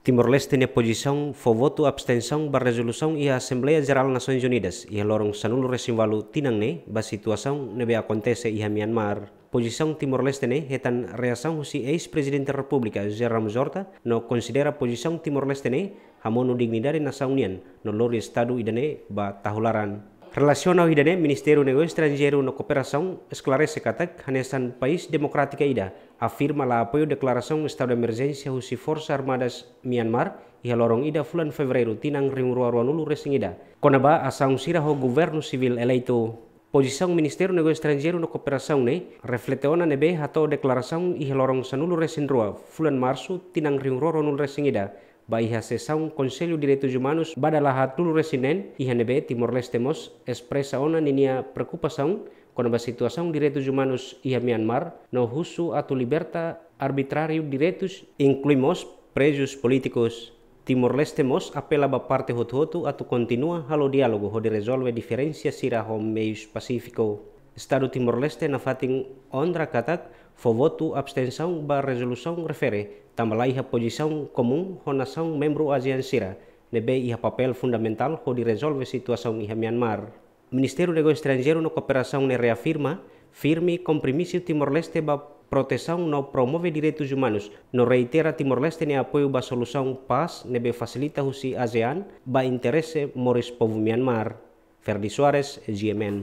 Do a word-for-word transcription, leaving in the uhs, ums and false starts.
Timor-Leste nia pozisaun fó votu abstensaun ba rezolusaun iha Asembleia Jerál Nasoins Unidas iha loron sanulu-resin-ualu tinan ne'e ba situasaun ne'ebé akontese iha Myanmar. Pozisaun Timor-Leste ne'e hetan reasaun husi eis-Prezidente Repúblika José Ramos-Horta, no konsidera pozisaun Timor-Leste ne'e hamonu dignidade nasaun nian no lori estadu ida-ne'e ba tahu laran. Relasiona ho ida-ne'e, Ministériu Negósiu Estranjeiru no Kooperasaun esklarese katak hanesan país demokrátika ida, afirma la apoiu deklarasaun estadu de emerjénsia husi Forsas Armadas Myanmar iha loron ida fulan Fevereiru tinan rihun rua ruanulu-resin-ida, kona-ba asaun sira ho governu sivíl eleitu. Pozisaun Ministériu Negósiu Estranjeiru no Kooperasaun ne'e reflete ona ne'ebé hato'o deklarasaun iha loron sanulu-resin-rua fulan Marsu tinan rihun rua ruanulu-resin-ida, ba iha sesaun Konsellu Direitus Umanus ba dala haatnulu-resin-neen, iha ne'ebé Timor-Leste mós espresa ona ninia preokupasaun kona-ba situasaun direitus umanus iha Myanmar, no husu atu liberta arbitráriu direitus, inklui mós prezus polítikus. Timor-Leste mós apela ba parte hotu-hotu atu kontinua halo diálogu hodi rezolve diferensa sira ho meius pasífiku. Estadu Timor-Leste nafatin onra katak fó votu abstensaun ba rezolusaun refere, tanba la iha pozisaun komún ho nasaun membru ASEAN sira, ne'ebé iha papél fundamentál hodi rezolve situasaun iha Myanmar. Ministériu Negósiu Estranjeiru no Kooperasaun ne'e reafirma firme kompromisu Timor-Leste ba protesaun no promove direitus umanus, no reitera Timor-Leste nia apoiu ba solusaun pás ne'ebé fasilita husi ASEAN ba interese moris povu Myanmar. Ferdi Soares, G M N.